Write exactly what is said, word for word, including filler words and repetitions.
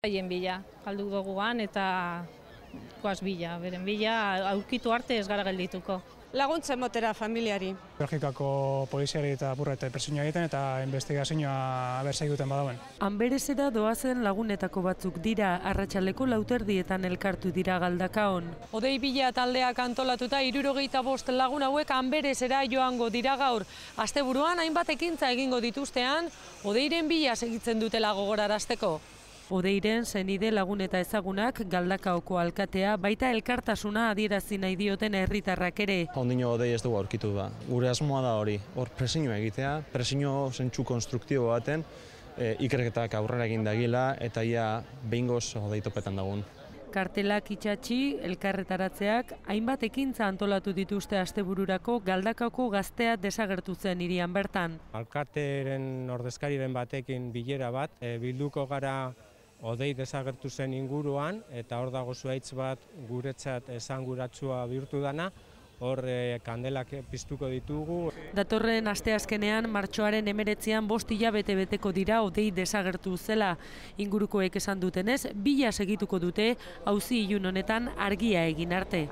Haien bila, galdu duguan eta goaz bila, beren bila, aurkitu arte ez gara geldituko. Laguntzen motera familiari. Belgikako poliziari eta apurrete presioa egiten eta investigazioa berzai duten badauen. Anberesera doazen lagunetako batzuk dira, arratsaldeko lauterdietan elkartu dira Galdakaon. Odei bila taldeak antolatuta hirurogeita bost lagun hauek Anberesera joango dira gaur. Asteburuan hainbat ekintza egingo dituztean, Odeiren bila segitzen dutela gogorarazteko. Odeiren senide lagun eta ezagunak Galdakaoko alkatea baita elkartasuna adierazi nahi dioten herritarrak ere. Ondino Odei ez dugu aurkitu da. Gure asmoa da hori, hor presioa egitea, presio zentsu konstruktibo baten, e, ikerketak aurrera egin dagila eta ia behingoz Odei topetan dagun. Kartelak itxatxi, elkarretaratzeak, hainbat ekintza antolatu dituzte astebururako Galdakaoko gaztea desagertu zen hirian bertan. Alkateren ordezkariren batekin bilera bat, e, bilduko gara Odei desagertu zen inguruan, eta hor dago zuhaitz bat guretzat esanguratsua bihurtu dana, hor e, kandelak piztuko ditugu. Datorren asteazkenean martxoaren hemeretzian bost hilabete beteko dira Odei desagertu zela. Ingurukoek esan dutenez, bila segituko dute auzi ilun honetan argia egin arte.